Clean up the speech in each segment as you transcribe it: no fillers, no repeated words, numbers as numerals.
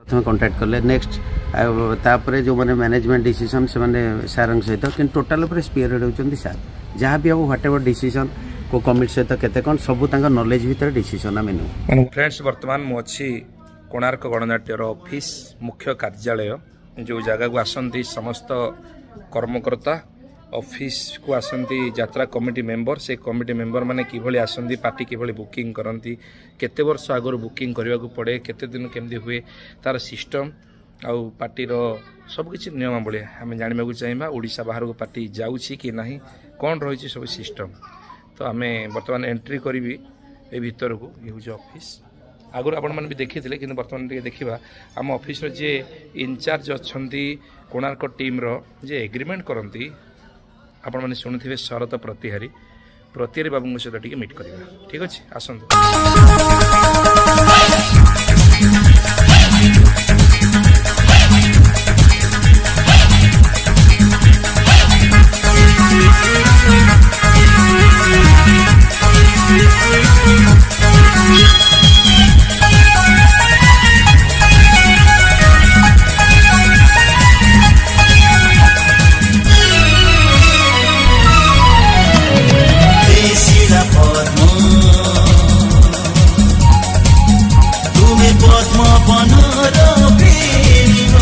ପ୍ରଥମେ କଣ୍ଟାକ୍ଟ କଲେ, ନେକ୍ସଟ ଆଉ ତାପରେ ଯେଉଁମାନେ ମ୍ୟାନେଜମେଣ୍ଟ ଡିସିସନ୍ ସେମାନେ ସାର୍ଙ୍କ ସହିତ, କିନ୍ତୁ ଟୋଟାଲ୍ ଉପରେ ସ୍ପିୟର ହେଡ୍ ହେଉଛନ୍ତି ସାର୍। ଯାହା ବି ହେବ, what ever decision, କେଉଁ କମିଟି ସହିତ କେତେ କ'ଣ, ସବୁ ତାଙ୍କ ନଲେଜ ଭିତରେ ଡିସିସନ୍ ଆମେ ନେଉ। ଫ୍ରେଣ୍ଡସ୍, ବର୍ତ୍ତମାନ ମୁଁ ଅଛି କୋଣାର୍କ ଗଣନାଟ୍ୟର ଅଫିସ୍ ମୁଖ୍ୟ କାର୍ଯ୍ୟାଳୟ, ଯେଉଁ ଜାଗାକୁ ଆସନ୍ତି ସମସ୍ତ କର୍ମକର୍ତ୍ତା, ଅଫିସକୁ ଆସନ୍ତି ଯାତ୍ରା କମିଟି ମେମ୍ବର। ସେ କମିଟି ମେମ୍ବର ମାନେ କିଭଳି ଆସନ୍ତି, ପାର୍ଟି କିଭଳି ବୁକିଂ କରନ୍ତି, କେତେ ବର୍ଷ ଆଗରୁ ବୁକିଂ କରିବାକୁ ପଡ଼େ, କେତେ ଦିନ କେମିତି ହୁଏ ତା'ର ସିଷ୍ଟମ୍ ଆଉ ପାର୍ଟିର ସବୁକିଛି ନିୟମାବଳୀ ଆମେ ଜାଣିବାକୁ ଚାହିଁବା। ଓଡ଼ିଶା ବାହାରକୁ ପାର୍ଟି ଯାଉଛି କି ନାହିଁ, କ'ଣ ରହିଛି ସବୁ ସିଷ୍ଟମ୍। ତ ଆମେ ବର୍ତ୍ତମାନ ଏଣ୍ଟ୍ରି କରିବି ଏ ଭିତରକୁ। ଇଏ ହେଉଛି ଅଫିସ୍। ଆଗରୁ ଆପଣମାନେ ବି ଦେଖିଥିଲେ, କିନ୍ତୁ ବର୍ତ୍ତମାନ ଟିକେ ଦେଖିବା। ଆମ ଅଫିସର ଯିଏ ଇନଚାର୍ଜ ଅଛନ୍ତି କୋଣାର୍କ ଟିମ୍ର, ଯିଏ ଏଗ୍ରିମେଣ୍ଟ କରନ୍ତି, ଆପଣମାନେ ଶୁଣୁଥିବେ, ଶରତ ପ୍ରତିହାରୀ, ପ୍ରତିହାରୀ ବାବୁଙ୍କ ସହିତ ଟିକେ ମିଟ୍ କରିବା। ଠିକ୍ ଅଛି, ଆସନ୍ତୁ। ତୁମେ ପଦ୍ମ ବନର ପ୍ରେମିକ,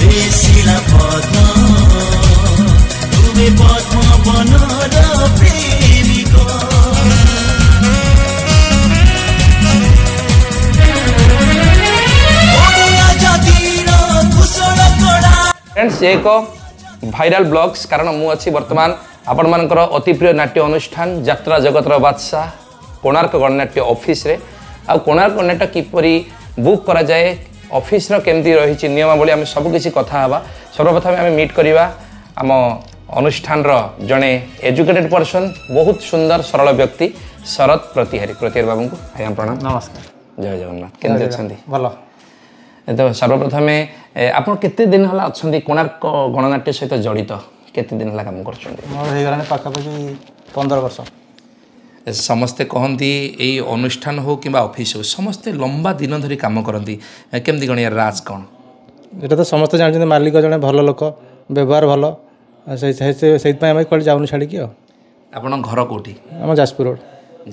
ହେ ଶିଳା ପଦ୍ମ, ତୁମେ ପଦ୍ମ ବନର ପ୍ରେମିକ। ଓଡ଼ିଆ ଜାତିର କୁଶଳ କଳା। ଫ୍ରେଣ୍ଡସ୍, ଏକ ଭାଇରାଲ ବ୍ଲଗ୍ସ, କାରଣ ମୁଁ ଅଛି ବର୍ତ୍ତମାନ ଆପଣମାନଙ୍କର ଅତି ପ୍ରିୟ ନାଟ୍ୟ ଅନୁଷ୍ଠାନ ଯାତ୍ରା ଜଗତର ବାଦଶାହ କୋଣାର୍କ ଗଣନାଟ୍ୟ ଅଫିସରେ। ଆଉ କୋଣାର୍କ ଗଣନାଟ୍ୟ କିପରି ବୁକ୍ କରାଯାଏ, ଅଫିସର କେମିତି ରହିଛି ନିୟମାବଳୀ, ଆମେ ସବୁକିଛି କଥା ହେବା। ସର୍ବପ୍ରଥମେ ଆମେ ମିଟ୍ କରିବା ଆମ ଅନୁଷ୍ଠାନର ଜଣେ ଏଜୁକେଟେଡ୍ ପର୍ସନ୍, ବହୁତ ସୁନ୍ଦର ସରଳ ବ୍ୟକ୍ତି ଶରତ ପ୍ରତିହାରୀ, ପ୍ରତିହାରୀ ବାବୁଙ୍କୁ। ଆଜ୍ଞା ପ୍ରଣାମ। ନମସ୍କାର। ଜୟ ଜଗନ୍ନାଥ। କେମିତି ଅଛନ୍ତି? ଭଲ। ତ ସର୍ବପ୍ରଥମେ ଆପଣ କେତେ ଦିନ ହେଲା ଅଛନ୍ତି କୋଣାର୍କ ଗଣନାଟ୍ୟ ସହିତ ଜଡ଼ିତ? କେତେ ଦିନ ହେଲା କାମ କରୁଛନ୍ତି? ମୋର ହେଇଗଲାଣି ପାଖାପାଖି 15 ବର୍ଷ। ସମସ୍ତେ କହନ୍ତି ଏଇ ଅନୁଷ୍ଠାନ ହଉ କିମ୍ବା ଅଫିସ୍ ହଉ, ସମସ୍ତେ ଲମ୍ବା ଦିନ ଧରି କାମ କରନ୍ତି। କେମିତି କ'ଣ ୟାର ରାଜ କ'ଣ? ଏଇଟା ତ ସମସ୍ତେ ଜାଣିଛନ୍ତି, ମାଲିକ ଜଣେ ଭଲ ଲୋକ, ବ୍ୟବହାର ଭଲ, ସେଇଥିପାଇଁ ଆମେ କୁଆଡ଼େ ଯାଉନୁ ଛାଡ଼ିକି। ଆଉ ଆପଣଙ୍କ ଘର କେଉଁଠି? ଆମ ଯାଜପୁର ରୋଡ଼।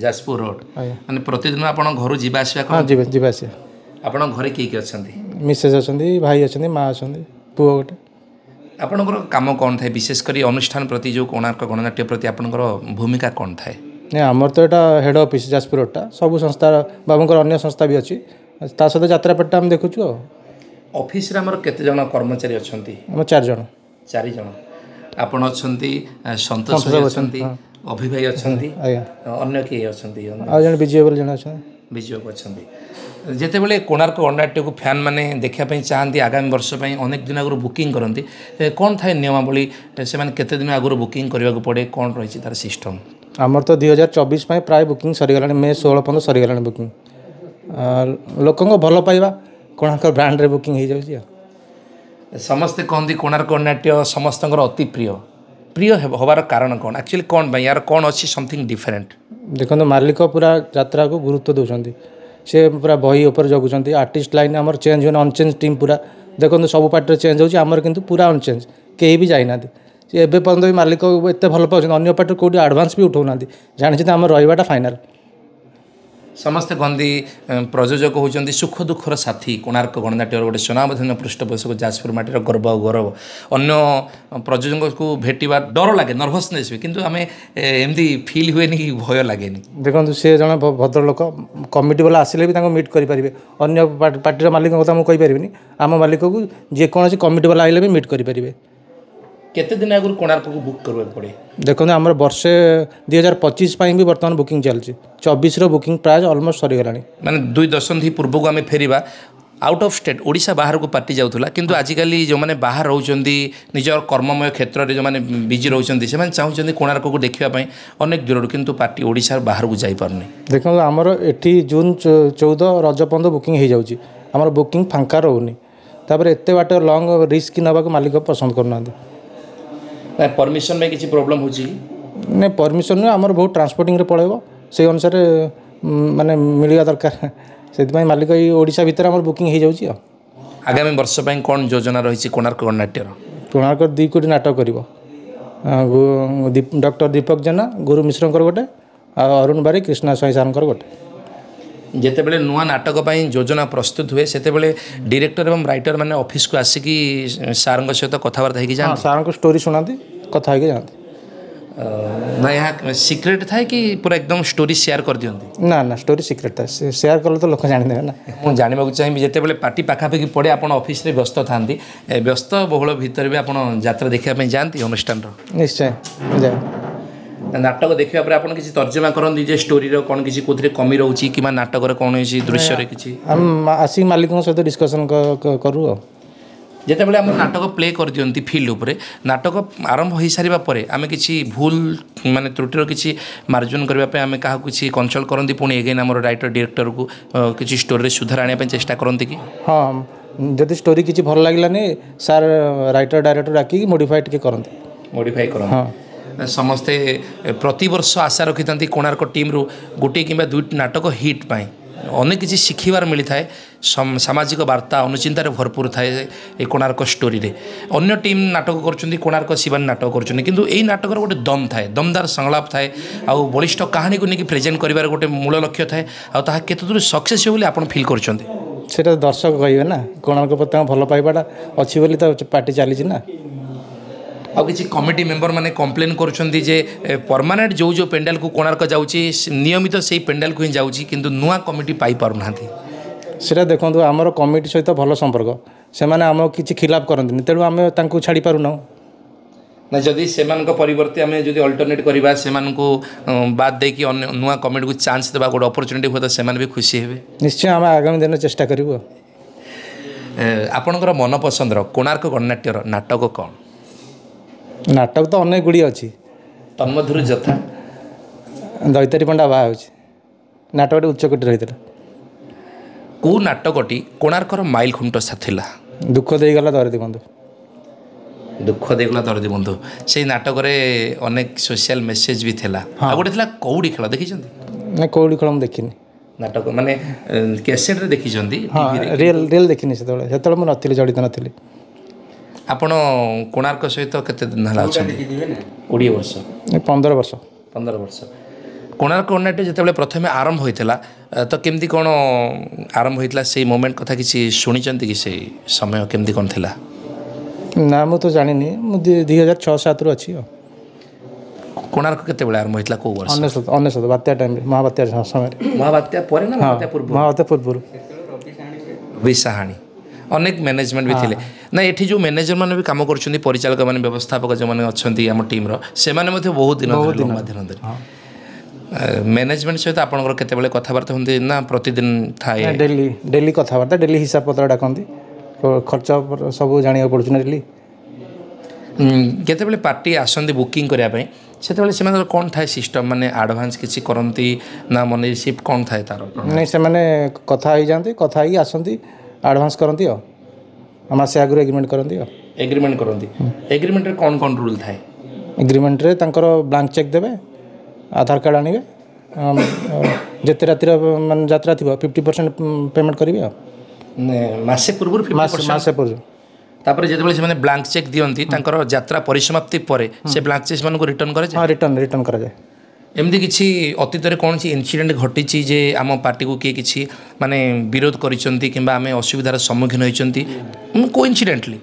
ଯାଜପୁର ରୋଡ଼। ଆଜ୍ଞା। ମାନେ ପ୍ରତିଦିନ ଆପଣ ଘରୁ ଯିବା ଆସିବା? ହଁ, ଯିବା ଆସିବା। ଆପଣଙ୍କ ଘରେ କିଏ କିଏ ଅଛନ୍ତି? ମିସେସ୍ ଅଛନ୍ତି, ଭାଇ ଅଛନ୍ତି, ମା ଅଛନ୍ତି, ପୁଅ ଗୋଟେ। ଆପଣଙ୍କର କାମ କ'ଣ ଥାଏ, ବିଶେଷ କରି ଅନୁଷ୍ଠାନ ପ୍ରତି, ଯେଉଁ କୋଣାର୍କ ଗଣନାଟ୍ୟ ପ୍ରତି ଆପଣଙ୍କର ଭୂମିକା କ'ଣ ଥାଏ? ନାଇଁ, ଆମର ତ ଏଇଟା ହେଡ଼୍ ଅଫିସ୍ ଯାଜପୁର ରୋଡ଼ଟା, ସବୁ ସଂସ୍ଥା, ବାବୁଙ୍କର ଅନ୍ୟ ସଂସ୍ଥା ବି ଅଛି, ତା ସହିତ ଯାତ୍ରା ପାର୍ଟିଟା ଆମେ ଦେଖୁଛୁ। ଆଉ ଅଫିସରେ ଆମର କେତେ ଜଣ କର୍ମଚାରୀ ଅଛନ୍ତି? ଆମ 4 ଜଣ। 4 ଜଣ। ଆପଣ ଅଛନ୍ତି, ସନ୍ତୋଷ ଭାଇ ଅଛନ୍ତି, ଅଭି ଭାଇ ଅଛନ୍ତି। ଆଜ୍ଞା। ଅନ୍ୟ କିଏ ଅଛନ୍ତି? ଆଉ ଜଣେ ବିଜୟ ବୋଲି ଜଣେ ଅଛନ୍ତି। ବିଜୟ ଅଛନ୍ତି। ଯେତେବେଳେ କୋଣାର୍କ ଗଣନାଟ୍ୟକୁ ଫ୍ୟାନ୍ ମାନେ ଦେଖିବା ପାଇଁ ଚାହାନ୍ତି ଆଗାମୀ ବର୍ଷ ପାଇଁ, ଅନେକ ଦିନ ଆଗରୁ ବୁକିଂ କରନ୍ତି, କ'ଣ ଥାଏ ନିୟମାବଳୀ? ସେମାନେ କେତେ ଦିନ ଆଗରୁ ବୁକିଂ କରିବାକୁ ପଡ଼େ? କ'ଣ ରହିଛି ତା'ର ସିଷ୍ଟମ୍? ଆମର ତ 2024 ପାଇଁ ପ୍ରାୟ ବୁକିଂ ସରିଗଲାଣି, ମେ 16 ପର୍ଯ୍ୟନ୍ତ ସରିଗଲାଣି ବୁକିଂ। ଲୋକଙ୍କ ଭଲ ପାଇବା କୋଣାର୍କ ବ୍ରାଣ୍ଡରେ ବୁକିଂ ହେଇଯାଉଛି। ଆଉ ସମସ୍ତେ କହନ୍ତି କୋଣାର୍କ ଗଣନାଟ୍ୟ ସମସ୍ତଙ୍କର ଅତି ପ୍ରିୟ। ପ୍ରିୟ ହେବାର କାରଣ କ'ଣ ଆକ୍ଚୁଆଲି? କ'ଣ ପାଇଁ? ୟାର କ'ଣ ଅଛି ସମଥିଙ୍ଗ ଡିଫରେଣ୍ଟ? ଦେଖନ୍ତୁ, ମାଲିକ ପୁରା ଯାତ୍ରାକୁ ଗୁରୁତ୍ୱ ଦେଉଛନ୍ତି, ସେ ପୁରା ବହି ଉପରେ ଜଗୁଛନ୍ତି। ଆର୍ଟିଷ୍ଟ ଲାଇନ୍ ଆମର ଚେଞ୍ଜ ହୁଏନି, ଅନଚେଞ୍ଜ ଟିମ୍ ପୁରା। ଦେଖନ୍ତୁ, ସବୁ ପାର୍ଟିରେ ଚେଞ୍ଜ ହେଉଛି, ଆମର କିନ୍ତୁ ପୁରା ଅନଚେଞ୍ଜ, କେହି ବି ଯାଇନାହାନ୍ତି। ସେ ଏବେ ପର୍ଯ୍ୟନ୍ତ ବି ମାଲିକ ଏତେ ଭଲ ପାଉଛନ୍ତି, ଅନ୍ୟ ପାର୍ଟିରୁ କେଉଁଠି ଆଡ଼ଭାନ୍ସ ବି ଉଠାଉନାହାନ୍ତି, ଜାଣିଛନ୍ତି ଆମର ରହିବାଟା ଫାଇନାଲ୍। ସମସ୍ତେ କହନ୍ତି ପ୍ରଯୋଜକ ହେଉଛନ୍ତି ସୁଖ ଦୁଃଖର ସାଥୀ। କୋଣାର୍କ ଗଣନାଟ୍ୟର ଗୋଟେ ସୁନାମଧନ୍ୟ ପୃଷ୍ଠପୋଷକ, ଯାଜପୁର ମାଟିର ଗର୍ବ ଆଉ ଗୌରବ। ଅନ୍ୟ ପ୍ରଯୋଜକଙ୍କୁ ଭେଟିବା ଡର ଲାଗେ, ନର୍ଭସନେସ୍ ହୁଏ, କିନ୍ତୁ ଆମେ ଏମିତି ଫିଲ୍ ହୁଏନି କି ଭୟ ଲାଗେନି। ଦେଖନ୍ତୁ, ସେ ଜଣେ ଭଦ୍ରଲୋକ, କମିଟି ବାଲା ଆସିଲେ ବି ତାଙ୍କୁ ମିଟ୍ କରିପାରିବେ। ଅନ୍ୟ ପାର୍ଟିର ମାଲିକଙ୍କ କଥା ମୁଁ କହିପାରିବିନି, ଆମ ମାଲିକକୁ ଯେକୌଣସି କମିଟି ବାଲା ଆସିଲେ ବି ମିଟ୍ କରିପାରିବେ। କେତେ ଦିନ ଆଗରୁ କୋଣାର୍କକୁ ବୁକ୍ କରିବାକୁ ପଡ଼େ? ଦେଖନ୍ତୁ, ଆମର ବର୍ଷେ 2025 ପାଇଁ ବି ବର୍ତ୍ତମାନ ବୁକିଂ ଚାଲିଛି, 24ର ବୁକିଂ ପ୍ରାୟ ଅଲମୋଷ୍ଟ ସରିଗଲାଣି। ମାନେ 2 ଦଶନ୍ଧି ପୂର୍ବକୁ ଆମେ ଫେରିବା, ଆଉଟ୍ ଅଫ୍ ଷ୍ଟେଟ୍, ଓଡ଼ିଶା ବାହାରକୁ ପାର୍ଟି ଯାଉଥିଲା, କିନ୍ତୁ ଆଜିକାଲି ଯେଉଁମାନେ ବାହାର ରହୁଛନ୍ତି, ନିଜର କର୍ମମୟ କ୍ଷେତ୍ରରେ ଯେଉଁମାନେ ବିଜି ରହୁଛନ୍ତି, ସେମାନେ ଚାହୁଁଛନ୍ତି କୋଣାର୍କକୁ ଦେଖିବା ପାଇଁ ଅନେକ ଦୂରରୁ, କିନ୍ତୁ ପାର୍ଟି ଓଡ଼ିଶାର ବାହାରକୁ ଯାଇପାରୁନି। ଦେଖନ୍ତୁ, ଆମର ଏଠି ଜୁନ୍ 14 ରଜ ପର୍ଯ୍ୟନ୍ତ ବୁକିଂ ହେଇଯାଉଛି, ଆମର ବୁକିଂ ଫାଙ୍କା ରହୁନି। ତାପରେ ଏତେ ବାଟ ଲଙ୍ଗ୍ ରିସ୍କ ନେବାକୁ ମାଲିକ ପସନ୍ଦ କରୁନାହାନ୍ତି। ନାଇଁ, ପରମିସନ୍ ପାଇଁ କିଛି ପ୍ରୋବ୍ଲେମ୍ ହେଉଛି କି? ନାଇଁ, ପରମିସନ୍ ନୁହେଁ, ଆମର ବହୁତ ଟ୍ରାନ୍ସପୋର୍ଟିଂରେ ପଳେଇବ, ସେଇ ଅନୁସାରେ ମାନେ ମିଳିବା ଦରକାର। ସେଥିପାଇଁ ମାଲିକ ଏଇ ଓଡ଼ିଶା ଭିତରେ ଆମର ବୁକିଂ ହେଇଯାଉଛି। ଆଉ ଆଗାମୀ ବର୍ଷ ପାଇଁ କ'ଣ ଯୋଜନା ରହିଛି କୋଣାର୍କ ଗଣନାଟ୍ୟର? କୋଣାର୍କ 2 କୋଟି ନାଟକ କରିବ। ଡକ୍ଟର ଦୀପକ ଜେନା, ଗୁରୁ ମିଶ୍ରଙ୍କର ଗୋଟେ, ଆଉ ଅରୁଣ ବାରିକ, କୃଷ୍ଣା ସ୍ୱାଇଁ ସାର୍ଙ୍କର ଗୋଟେ। ଯେତେବେଳେ ନୂଆ ନାଟକ ପାଇଁ ଯୋଜନା ପ୍ରସ୍ତୁତ ହୁଏ, ସେତେବେଳେ ଡିରେକ୍ଟର ଏବଂ ରାଇଟର ମାନେ ଅଫିସକୁ ଆସିକି ସାର୍ଙ୍କ ସହିତ କଥାବାର୍ତ୍ତା ହେଇକି ଯାଆନ୍ତି? ସାର୍ଙ୍କୁ ଷ୍ଟୋରି ଶୁଣାନ୍ତି, କଥା ହେଇକି ଯାଆନ୍ତି। ନା ଏହା ସିକ୍ରେଟ୍ ଥାଏ କି ପୁରା ଏକଦମ ଷ୍ଟୋରି ସେୟାର କରିଦିଅନ୍ତି? ନା ନା, ଷ୍ଟୋରି ସିକ୍ରେଟ୍ ଥାଏ, ସେୟାର କଲେ ତ ଲୋକ ଜାଣିଦେବେ ନା। ମୁଁ ଜାଣିବାକୁ ଚାହିଁବି, ଯେତେବେଳେ ପାର୍ଟି ପାଖାପାଖି ପଡ଼େ, ଆପଣ ଅଫିସରେ ବ୍ୟସ୍ତ ଥାନ୍ତି, ବ୍ୟସ୍ତ ବହୁଳ ଭିତରେ ବି ଆପଣ ଯାତ୍ରା ଦେଖିବା ପାଇଁ ଯାଆନ୍ତି ଅନୁଷ୍ଠାନର? ନିଶ୍ଚୟ ଯାଏ। ନାଟକ ଦେଖିବା ପରେ ଆପଣ କିଛି ତର୍ଜମା କରନ୍ତି ଯେ ଷ୍ଟୋରିର କ'ଣ କିଛି କେଉଁଥିରେ କମି ରହୁଛି କିମ୍ବା ନାଟକର କୌଣସି ଦୃଶ୍ୟରେ କିଛି? ଆମେ ଆସିକି ମାଲିକଙ୍କ ସହିତ ଡିସ୍କସନ୍ କରୁ। ଆଉ ଯେତେବେଳେ ଆମର ନାଟକ ପ୍ଲେ କରିଦିଅନ୍ତି ଫିଲ୍ଡ ଉପରେ, ନାଟକ ଆରମ୍ଭ ହୋଇସାରିବା ପରେ ଆମେ କିଛି ଭୁଲ ମାନେ ତ୍ରୁଟିର କିଛି ମାର୍ଜନ କରିବା ପାଇଁ ଆମେ କାହାକୁ କିଛି କନସଲ୍ଟ କରନ୍ତି? ପୁଣି ଏଗେନ୍ ଆମର ରାଇଟର ଡିରେକ୍ଟରକୁ କିଛି ଷ୍ଟୋରିରେ ସୁଧାର ଆଣିବା ପାଇଁ ଚେଷ୍ଟା କରନ୍ତି କି? ହଁ, ଯଦି ଷ୍ଟୋରି କିଛି ଭଲ ଲାଗିଲାନି, ସାର୍ ରାଇଟର ଡାଇରେକ୍ଟର ଡାକିକି ମୋଡ଼ିଫାଏ ଟିକେ କରନ୍ତି। ମୋଡ଼ିଫାଏ କରନ୍ତି। ହଁ। ସମସ୍ତେ ପ୍ରତିବର୍ଷ ଆଶା ରଖିଥାନ୍ତି କୋଣାର୍କ ଟିମ୍ରୁ ଗୋଟିଏ କିମ୍ବା ଦୁଇଟି ନାଟକ ହିଟ୍ ପାଇଁ। ଅନେକ କିଛି ଶିଖିବାର ମିଳିଥାଏ, ସାମାଜିକ ବାର୍ତ୍ତା ଅନୁଚିନ୍ତାରେ ଭରପୁର ଥାଏ ଏ କୋଣାର୍କ ଷ୍ଟୋରିରେ। ଅନ୍ୟ ଟିମ୍ ନାଟକ କରୁଛନ୍ତି, କୋଣାର୍କ ଶିବାନୀ ନାଟକ କରୁଛନ୍ତି, କିନ୍ତୁ ଏଇ ନାଟକର ଗୋଟେ ଦମ୍ ଥାଏ, ଦମଦାର ସଂଳାପ ଥାଏ, ଆଉ ବଳିଷ୍ଠ କାହାଣୀକୁ ନେଇକି ପ୍ରେଜେଣ୍ଟ କରିବାର ଗୋଟେ ମୂଳ ଲକ୍ଷ୍ୟ ଥାଏ। ଆଉ ତାହା କେତେ ଦୂର ସକ୍ସେସ୍ ହେବ ବୋଲି ଆପଣ ଫିଲ୍ କରୁଛନ୍ତି? ସେଇଟା ଦର୍ଶକ କହିବେ ନା। କୋଣାର୍କ ପ୍ରତି ତାଙ୍କ ଭଲ ପାଇବାଟା ଅଛି ବୋଲି ତ ପାର୍ଟି ଚାଲିଛି ନା। ଆଉ କିଛି କମିଟି ମେମ୍ବର ମାନେ କମ୍ପ୍ଲେନ୍ କରୁଛନ୍ତି ଯେ ପରମାନେଣ୍ଟ ଯେଉଁ ଯେଉଁ ପେଣ୍ଡାଲକୁ କୋଣାର୍କ ଯାଉଛି, ନିୟମିତ ସେଇ ପେଣ୍ଡାଲକୁ ହିଁ ଯାଉଛି, କିନ୍ତୁ ନୂଆ କମିଟି ପାଇପାରୁନାହାନ୍ତି। ସେଇଟା ଦେଖନ୍ତୁ, ଆମର କମିଟି ସହିତ ଭଲ ସମ୍ପର୍କ, ସେମାନେ ଆମକୁ କିଛି ଖିଲାପ କରନ୍ତିନି, ତେଣୁ ଆମେ ତାଙ୍କୁ ଛାଡ଼ି ପାରୁନାହୁଁ। ନା, ଯଦି ସେମାନଙ୍କ ପରିବର୍ତ୍ତେ ଆମେ ଯଦି ଅଲ୍ଟରନେଟ୍ କରିବା, ସେମାନଙ୍କୁ ବାଦ ଦେଇକି ଅନ୍ୟ ନୂଆ କମିଟିକୁ ଚାନ୍ସ ଦେବା, ଗୋଟେ ଅପରଚ୍ୟୁନିଟି, ହୁଏତ ସେମାନେ ବି ଖୁସି ହେବେ। ନିଶ୍ଚୟ ଆମେ ଆଗାମୀ ଦିନରେ ଚେଷ୍ଟା କରିବୁ। ଆପଣଙ୍କର ମନପସନ୍ଦର କୋଣାର୍କ ଗଣନାଟ୍ୟର ନାଟକ କ'ଣ? ନାଟକ ତ ଅନେକ ଗୁଡ଼ିଏ ଅଛି। ତନ୍ମଧ୍ୟରୁ ଯଥା? ଦୈତାରୀ ପଣ୍ଡା ବାହା ହେଉଛି ନାଟକଟି ଉଚ୍ଚକୋଟୀର ରହିଥିଲା। କେଉଁ ନାଟକଟି କୋଣାର୍କର ମାଇଲ ଖୁଣ୍ଟ ଥିଲା? ଦୁଃଖ ଦେଇଗଲା ଦରଦୀ ବନ୍ଧୁ। ଦୁଃଖ ଦେଇଗଲା ଦରଦୀ ବନ୍ଧୁ, ସେଇ ନାଟକରେ ଅନେକ ସୋସିଆଲ ମେସେଜ ବି ଥିଲା। ଆଉ ଗୋଟେ ଥିଲା କଉଡ଼ି ଖେଳ, ଦେଖିଛନ୍ତି? ନା, କଉଡ଼ି ଖେଳ ମୁଁ ଦେଖିନି। ନାଟକ ମାନେ କ୍ୟାସେଟ୍ରେ ଦେଖିଛନ୍ତି? ହଁ, ରିଏଲ୍ ରିଏଲ୍ ଦେଖିନି। ସେତେବେଳେ ମୁଁ ନଥିଲି, ଜଡ଼ିତ ନଥିଲି। ଆପଣ କୋଣାର୍କ ସହିତ କେତେ ଦିନ ହେଲା ଅଛନ୍ତି? 20 ବର୍ଷ? 15 ବର୍ଷ। 15 ବର୍ଷ। କୋଣାର୍କ ଗଣନାଟ୍ୟ ଯେତେବେଳେ ପ୍ରଥମେ ଆରମ୍ଭ ହୋଇଥିଲା, ତ କେମିତି କ'ଣ ଆରମ୍ଭ ହୋଇଥିଲା, ସେଇ ମୋମେଣ୍ଟ କଥା କିଛି ଶୁଣିଛନ୍ତି କି? ସେଇ ସମୟ କେମିତି କ'ଣ ଥିଲା? ନା, ମୁଁ ତ ଜାଣିନି। ମୁଁ 2006 7ରୁ ଅଛି। ଆଉ କୋଣାର୍କ କେତେବେଳେ ଆରମ୍ଭ ହୋଇଥିଲା, କେଉଁ ବର୍ଷ? 99, 99 ବାତ୍ୟା ଟାଇମ୍ରେ, ମହାବାତ୍ୟା ସମୟରେ। ମହାବାତ୍ୟା ପରେ ନା ମହାବାତ୍ୟା ପୂର୍ବରୁ? ମହାବାତ୍ୟା ପୂର୍ବରୁ। ରବି ସାହାଣୀ, ଅନେକ ମ୍ୟାନେଜମେଣ୍ଟ ବି ଥିଲେ ନା। ଏଠି ଯେଉଁ ମ୍ୟାନେଜର ମାନେ ବି କାମ କରୁଛନ୍ତି, ପରିଚାଳକ ମାନେ, ବ୍ୟବସ୍ଥାପକ ଯେଉଁମାନେ ଅଛନ୍ତି ଆମ ଟିମ୍ର, ସେମାନେ ମଧ୍ୟ ବହୁତ ଦିନ ଧରି, ଲମ୍ବା ଦିନ ଧରି। ମ୍ୟାନେଜମେଣ୍ଟ ସହିତ ଆପଣଙ୍କର କେତେବେଳେ କଥାବାର୍ତ୍ତା ହୁଅନ୍ତି ନା ପ୍ରତିଦିନ ଥାଏ? ଡେଲି ଡେଲି କଥାବାର୍ତ୍ତା, ଡେଲି ହିସାବ ପତ୍ର ଡାକନ୍ତି, ଖର୍ଚ୍ଚ ସବୁ ଜାଣିବାକୁ ପଡ଼ୁଛି ନା ଡେଲି। ଯେତେବେଳେ ପାର୍ଟି ଆସନ୍ତି ବୁକିଂ କରିବା ପାଇଁ, ସେତେବେଳେ ସେମାନଙ୍କର କ'ଣ ଥାଏ ସିଷ୍ଟମ୍? ମାନେ ଆଡ଼ଭାନ୍ସ କିଛି କରନ୍ତି ନା ମନି ରିସିପ୍ଟ କ'ଣ ଥାଏ ତାର? ନାଇଁ, ସେମାନେ କଥା ହେଇଯାଆନ୍ତି, କଥା ହେଇକି ଆସନ୍ତି, ଆଡ଼ଭାନ୍ସ କରନ୍ତି, ଆଉ ମାସେ ଆଗରୁ ଏଗ୍ରିମେଣ୍ଟ କରନ୍ତି। ଆଉ ଏଗ୍ରିମେଣ୍ଟ କରନ୍ତି, ଏଗ୍ରିମେଣ୍ଟରେ କ'ଣ କ'ଣ ରୁଲ୍ ଥାଏ? ଏଗ୍ରିମେଣ୍ଟରେ ତାଙ୍କର ବ୍ଲାଙ୍କ ଚେକ୍ ଦେବେ, ଆଧାର କାର୍ଡ଼ ଆଣିବେ, ଯେତେ ରାତିର ମାନେ ଯାତ୍ରା ଥିବ 50% ପେମେଣ୍ଟ କରିବେ। ଆଉ ମାସେ ପୂର୍ବରୁ? ମାସେ ପୂର୍ବରୁ। ତାପରେ ଯେତେବେଳେ ସେମାନେ ବ୍ଲାଙ୍କ ଚେକ୍ ଦିଅନ୍ତି, ତାଙ୍କର ଯାତ୍ରା ପରିସମାପ୍ତି ପରେ ସେ ବ୍ଲାଙ୍କ ଚେକ୍ ସେମାନଙ୍କୁ ରିଟର୍ନ କରାଯାଏ? ହଁ, ରିଟର୍ନ କରାଯାଏ। ଏମିତି କିଛି ଅତୀତରେ କୌଣସି ଇନସିଡେଣ୍ଟ ଘଟିଛି ଯେ ଆମ ପାର୍ଟିକୁ କିଏ କିଛି ମାନେ ବିରୋଧ କରିଛନ୍ତି କିମ୍ବା ଆମେ ଅସୁବିଧାର ସମ୍ମୁଖୀନ ହୋଇଛନ୍ତି କୋଇନ୍ସିଡେଣ୍ଟଲି?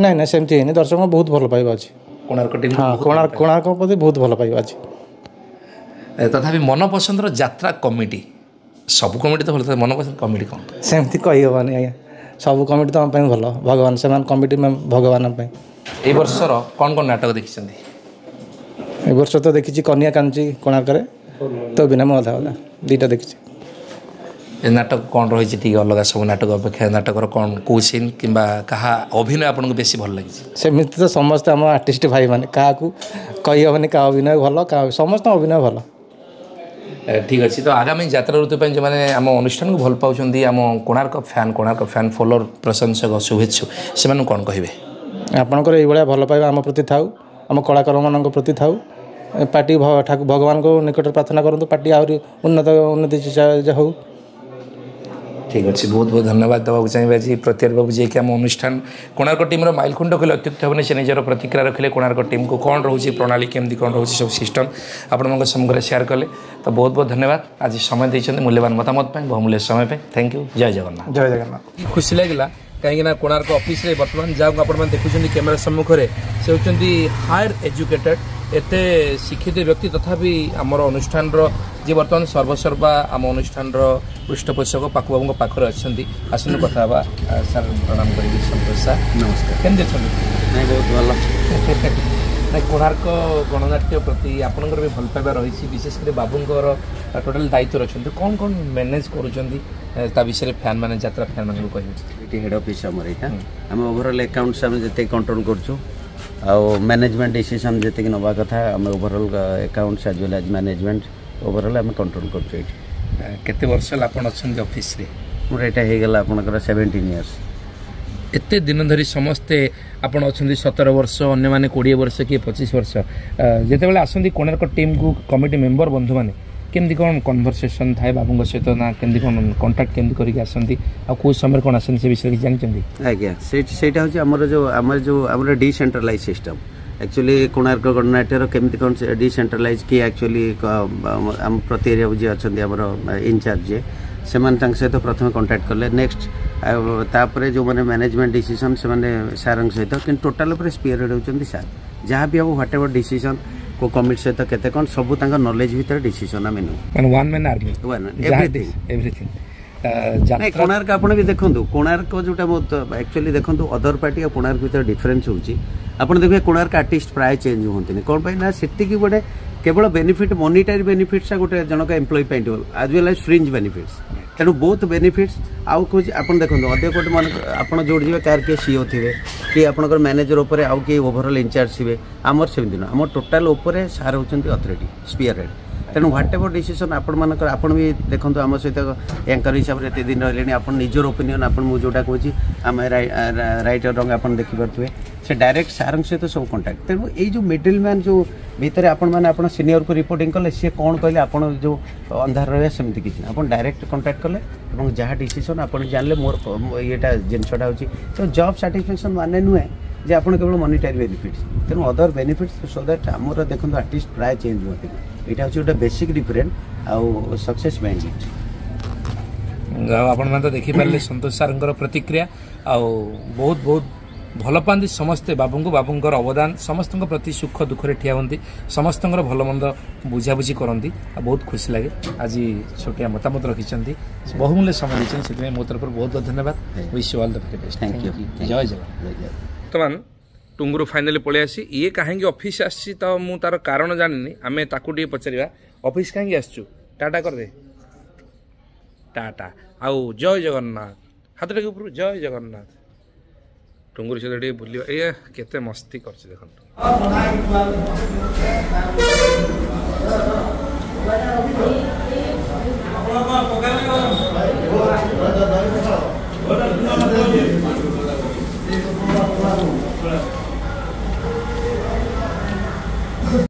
ନାଇଁ ନାଇଁ, ସେମିତି ହେଇନି। ଦର୍ଶକଙ୍କ ବହୁତ ଭଲ ପାଇବା ଅଛି କୋଣାର୍କ ଟିମ୍। ହଁ, କୋଣାର୍କ ପ୍ରତି ବହୁତ ଭଲ ପାଇବା ଅଛି। ତଥାପି ମନପସନ୍ଦର ଯାତ୍ରା କମିଟି, ସବୁ କମିଟି ତ ଭଲ ଥାଏ, ମନପସନ୍ଦ କମିଟି କ'ଣ? ସେମିତି କହିହେବନି ଆଜ୍ଞା, ସବୁ କମିଟି ତ ଆମ ପାଇଁ ଭଲ, ଭଗବାନ ସେମାନେ, କମିଟି ଭଗବାନ ଆମ ପାଇଁ। ଏଇ ବର୍ଷର କ'ଣ କ'ଣ ନାଟକ ଦେଖିଛନ୍ତି? ଏ ବର୍ଷ ତ ଦେଖିଛି କନିଆ କାଞ୍ଚି କୋଣାର୍କରେ, ତୋ ବିନା ମୁଁ ଅଧା ଅଧା, ଦୁଇଟା ଦେଖିଛି। ଏ ନାଟକ କ'ଣ ରହିଛି ଟିକେ ଅଲଗା ସବୁ ନାଟକ ଅପେକ୍ଷା? ନାଟକର କ'ଣ, କେଉଁ ସିନ୍ କିମ୍ବା କାହା ଅଭିନୟ ଆପଣଙ୍କୁ ବେଶୀ ଭଲ ଲାଗିଛି? ସେମିତି ତ ସମସ୍ତେ ଆମ ଆର୍ଟିଷ୍ଟ ଭାଇମାନେ, କାହାକୁ କହିହେବନି କାହା ଅଭିନୟ ଭଲ କାହା, ସମସ୍ତଙ୍କ ଅଭିନୟ ଭଲ। ଠିକ୍ ଅଛି। ତ ଆଗାମୀ ଯାତ୍ରା ଋତୁ ପାଇଁ ଯେଉଁମାନେ ଆମ ଅନୁଷ୍ଠାନକୁ ଭଲ ପାଉଛନ୍ତି, ଆମ Konark fan, Konark fan follower, ପ୍ରଶଂସକ, ଶୁଭେଚ୍ଛୁ, ସେମାନଙ୍କୁ କ'ଣ କହିବେ? ଆପଣଙ୍କର ଏଇଭଳିଆ ଭଲ ପାଇବା ଆମ ପ୍ରତି ଥାଉ, ଆମ କଳାକାରମାନଙ୍କ ପ୍ରତି ଥାଉ। ପାର୍ଟି ଠାକୁ ଭଗବାନଙ୍କ ନିକଟରେ ପ୍ରାର୍ଥନା କରନ୍ତୁ, ପାର୍ଟି ଆହୁରି ଉନ୍ନତି ହଉ। ଠିକ୍ ଅଛି, ବହୁତ ବହୁତ ଧନ୍ୟବାଦ ଦେବାକୁ ଚାହିଁବେ ଆଜି ପ୍ରତିହାର ବାବୁ, ଯିଏକି ଆମ ଅନୁଷ୍ଠାନ କୋଣାର୍କ ଟିମ୍ର ମାଇଲଖୁଣ୍ଟ କହିଲେ ଅତ୍ୟୁକ୍ତି ହେବନି। ସେ ନିଜର ପ୍ରତିକ୍ରିୟା ରଖିଲେ, କୋଣାର୍କ ଟିମ୍କୁ କ'ଣ ରହୁଛି ପ୍ରଣାଳୀ, କେମିତି କ'ଣ ରହୁଛି ସବୁ ସିଷ୍ଟମ୍ ଆପଣଙ୍କ ସମ୍ମୁଖରେ ସେୟାର କଲେ। ତ ବହୁତ ବହୁତ ଧନ୍ୟବାଦ ଆଜି ସମୟ ଦେଇଛନ୍ତି ମୂଲ୍ୟବାନ ମତାମତ ପାଇଁ, ବହୁମୂଲ୍ୟ ସମୟ ପାଇଁ। Thank you. ଜୟ ଜଗନ୍ନାଥ। ଜୟ ଜଗନ୍ନାଥ। ଖୁସି ଲାଗିଲା କାହିଁକିନା କୋଣାର୍କ ଅଫିସରେ ବର୍ତ୍ତମାନ ଯାହାକୁ ଆପଣମାନେ ଦେଖୁଛନ୍ତି କ୍ୟାମେରା ସମ୍ମୁଖରେ, ସେ ହେଉଛନ୍ତି ହାୟର ଏଜୁକେଟେଡ୍, ଏତେ ଶିକ୍ଷିତ ବ୍ୟକ୍ତି, ତଥାପି ଆମର ଅନୁଷ୍ଠାନର ଯିଏ ବର୍ତ୍ତମାନ ସର୍ବସର୍ବା ଆମ ଅନୁଷ୍ଠାନର ପୃଷ୍ଠପୋଷକ ପାକୁ ବାବୁଙ୍କ ପାଖରେ ଅଛନ୍ତି। ଆସନ୍ତୁ କଥା ହେବା। ସାର୍ ପ୍ରଣାମ କରିବି। ସନ୍ତୋଷ ସାର୍ ନମସ୍କାର। କେମିତି ଅଛନ୍ତି? ନାଇଁ, ବହୁତ ଭଲ। ନାଇଁ, କୋଣାର୍କ ଗଣନାଟ୍ୟ ପ୍ରତି ଆପଣଙ୍କର ବି ଭଲ ପାଇବା ରହିଛି, ବିଶେଷ କରି ବାବୁଙ୍କର ଟୋଟାଲ ଦାୟିତ୍ୱରେ ଅଛନ୍ତି। କ'ଣ କ'ଣ ମ୍ୟାନେଜ୍ କରୁଛନ୍ତି ତା ବିଷୟରେ ଫ୍ୟାନ୍ ମାନେ, ଯାତ୍ରା ଫ୍ୟାନ୍ ମାନଙ୍କୁ କହିବେ। ଏଠି ହେଡ୍ ଅଫିସ୍ ଆମର ଏଇଟା। ଆମେ ଓଭରଅଲ୍ ଆକାଉଣ୍ଟସ୍ ଆମେ ଯେତିକି କଣ୍ଟ୍ରୋଲ୍ କରୁଛୁ ଆଉ ମ୍ୟାନେଜମେଣ୍ଟ ଡିସିସନ୍ ଯେତିକି ନେବା କଥା, ଆମେ overall accounts as well as management overall ଆମେ କଣ୍ଟ୍ରୋଲ୍ କରୁଛୁ ଏଇଠି। କେତେ ବର୍ଷ ହେଲା ଆପଣ ଅଛନ୍ତି ଅଫିସରେ? ମୋର ଏଇଟା ହେଇଗଲା ଆପଣଙ୍କର 17 ଇୟର୍ସ। ଏତେ ଦିନ ଧରି ସମସ୍ତେ, ଆପଣ ଅଛନ୍ତି 17 ବର୍ଷ, ଅନ୍ୟମାନେ 20 ବର୍ଷ, କିଏ 25 ବର୍ଷ। ଯେତେବେଳେ ଆସନ୍ତି କୋଣାର୍କ ଟିମ୍କୁ କମିଟି ମେମ୍ବର ବନ୍ଧୁମାନେ, କେମିତି କ'ଣ କନଭରସେସନ୍ ଥାଏ ବାବୁଙ୍କ ସହିତ, ନା କେମିତି କ'ଣ କଣ୍ଟାକ୍ଟ କେମିତି କରିକି ଆସନ୍ତି ଆଉ କେଉଁ ସମୟରେ କ'ଣ ଆସନ୍ତି, ସେ ବିଷୟରେ କିଛି ଜାଣିଛନ୍ତି? ଆଜ୍ଞା, ସେଇଟା ହେଉଛି ଆମର ଡିସେଣ୍ଟ୍ରାଲାଇଜ୍ ସିଷ୍ଟମ୍। ଆକ୍ଚୁଆଲି କୋଣାର୍କ ଗଣନାଟ୍ୟର କେମିତି କ'ଣ ଡିସେଣ୍ଟ୍ରାଲାଇଜ୍ କି ଆକ୍ଚୁଆଲି ଆମ ପ୍ରତି ଏରିଆକୁ ଯିଏ ଅଛନ୍ତି ଆମର ଇନଚାର୍ଜ ଯିଏ, ସେମାନେ ତାଙ୍କ ସହିତ ପ୍ରଥମେ କଣ୍ଟାକ୍ଟ କଲେ। ନେକ୍ସଟ ଆଉ ତାପରେ ଯେଉଁମାନେ ମ୍ୟାନେଜମେଣ୍ଟ ଡିସିସନ୍ ସେମାନେ ସାର୍ଙ୍କ ସହିତ, କିନ୍ତୁ ଟୋଟାଲ ଉପରେ ସ୍ପିୟର ହେଡ୍ ହେଉଛନ୍ତି ସାର୍। ଯାହା ବି ହେବ, what ever decision, କେଉଁ କମିଟି ସହିତ କେତେ କ'ଣ, ସବୁ ତାଙ୍କ ନଲେଜ ଭିତରେ ଡିସିସନ୍ ଆମେ ନେଉ। ମାନେ one man army. One everything. Everything. ନାଇଁ, କୋଣାର୍କ ଆପଣ ବି ଦେଖନ୍ତୁ, କୋଣାର୍କ ଯୋଉଟା ବହୁତ ଆକ୍ଚୁଆଲି ଦେଖନ୍ତୁ, ଅଦର ପାର୍ଟି ଆଉ କୋଣାର୍କ ଭିତରେ ଡିଫରେନ୍ସ ହେଉଛି, ଆପଣ ଦେଖିବେ କୋଣାର୍କ ଆର୍ଟିଷ୍ଟ ପ୍ରାୟ ଚେଞ୍ଜ ହୁଅନ୍ତିନି। କ'ଣ ପାଇଁ ନା ସେତିକି ଗୋଟେ କେବଳ ବେନିଫିଟ୍, ମନିଟାରୀ ବେନିଫିଟ୍ସଟା ଗୋଟେ ଜଣକ ଏମ୍ପ୍ଲୟି ପାଇଁ ଆଜ୍ ୱେଲ୍ ଆଜ୍ ଫ୍ରିଞ୍ଜ ବେନିଫିଟ୍ସ। ତେଣୁ ବହୁତ ବେନିଫିଟ୍ସ। ଆଉ କହୁଛି, ଆପଣ ଦେଖନ୍ତୁ, ଅନ୍ୟ କୋଉଠି ମନେ ଆପଣ ଯୋଉଠି ଯିବେ, କାହାର କିଏ ସିଓ ଥିବେ କି ଆପଣଙ୍କର ମ୍ୟାନେଜର ଉପରେ ଆଉ କିଏ ଓଭରଅଲ୍ ଇନଚାର୍ଜ ଥିବେ। ଆମର ସେମିତି ନୁହଁ। ଆମ ଟୋଟାଲ ଉପରେ ସାର୍ ହେଉଛନ୍ତି ଅଥରିଟି, ସ୍ପିୟର ହେଡ୍। ତେଣୁ what ever decision ଆପଣମାନଙ୍କର, ଆପଣ ବି ଦେଖନ୍ତୁ, ଆମ ସହିତ ୟାଙ୍କର ହିସାବରେ ଏତେ ଦିନ ରହିଲେଣି, ଆପଣ ନିଜର ଓପିନିଅନ୍, ଆପଣ ମୁଁ ଯେଉଁଟା କହୁଛି ଆମେ ରାଇଟ୍ ରଙ୍ଗ ଆପଣ ଦେଖିପାରୁଥିବେ, ସେ ଡାଇରେକ୍ଟ ସାର୍ଙ୍କ ସହିତ ସବୁ କଣ୍ଟାକ୍ଟ। ତେଣୁ ଏଇ ଯେଉଁ ମିଡିଲ୍ ମ୍ୟାନ୍ ଯେଉଁ ଭିତରେ ଆପଣମାନେ ଆପଣ ସିନିୟରକୁ ରିପୋର୍ଟିଂ କଲେ, ସିଏ କ'ଣ କହିଲେ, ଆପଣ ଯେଉଁ ଅନ୍ଧାର ରହିବା, ସେମିତି କିଛି ନାହିଁ। ଆପଣ ଡାଇରେକ୍ଟ କଣ୍ଟାକ୍ଟ କଲେ ଏବଂ ଯାହା ଡିସିସନ୍ ଆପଣ ଜାଣିଲେ ମୋର ଇଏଟା ଜିନିଷଟା ହେଉଛି। ତ ଜବ୍ ସାଟିସ୍ଫାକ୍ସନ୍ ମାନେ ନୁହେଁ ଯେ ଆପଣ କେବଳ ମନିଟାରୀ ବେନିଫିଟ୍ସ, ତେଣୁ ଅଦର ବେନିଫିଟ୍ସ, ସୋ that ଆମର ଦେଖନ୍ତୁ ଆର୍ଟିଷ୍ଟ ପ୍ରାୟ ଚେଞ୍ଜ ହୁଅନ୍ତି। ଏଇଟା ହେଉଛି ଗୋଟେ ବେସିକ୍ ଡିଫରେଣ୍ଟ ଆଉ ସକ୍ସେସ୍ ମାଇଣ୍ଡ। ଆଉ ଆପଣମାନେ ତ ଦେଖିପାରିଲେ ସନ୍ତୋଷ ସାର୍ଙ୍କର ପ୍ରତିକ୍ରିୟା। ଆଉ ବହୁତ ବହୁତ ଭଲ ପାଆନ୍ତି ସମସ୍ତେ ବାବୁଙ୍କୁ। ବାବୁଙ୍କର ଅବଦାନ, ସମସ୍ତଙ୍କ ପ୍ରତି ସୁଖ ଦୁଃଖରେ ଠିଆ ହୁଅନ୍ତି, ସମସ୍ତଙ୍କର ଭଲ ମନ୍ଦ ବୁଝାବୁଝି କରନ୍ତି ଆଉ ବହୁତ ଖୁସି ଲାଗେ। ଆଜି ଛୋଟିଆ ମତାମତ ରଖିଛନ୍ତି, ବହୁମୂଲ୍ୟ ସମୟ ଦେଇଛନ୍ତି, ସେଥିପାଇଁ ମୋ ତରଫରୁ ବହୁତ ବହୁତ ଧନ୍ୟବାଦ। Wish you all the very best. Thank you. ଜୟ ଜଗନ୍ନାଥ। ବର୍ତ୍ତମାନ ଟୁଙ୍ଗୁରୁ ଫାଇନାଲି ପଳେଇ ଆସି, ଇଏ କାହିଁକି ଅଫିସ୍ ଆସିଛି ତ ମୁଁ ତାର କାରଣ ଜାଣିନି, ଆମେ ତାକୁ ଟିକେ ପଚାରିବା। ଅଫିସ୍ କାହିଁକି ଆସିଛୁ? ଟାଟା କରିଦେ, ଟାଟା ଆଉ ଜୟ ଜଗନ୍ନାଥ। ହାତଟାକୁ ଉପରୁ, ଜୟ ଜଗନ୍ନାଥ। ଟୁଙ୍ଗୁରୁ ସହିତ ଟିକେ ବୁଲିବା। ଇଏ କେତେ ମସ୍ତି କରୁଛି ଦେଖନ୍ତୁ।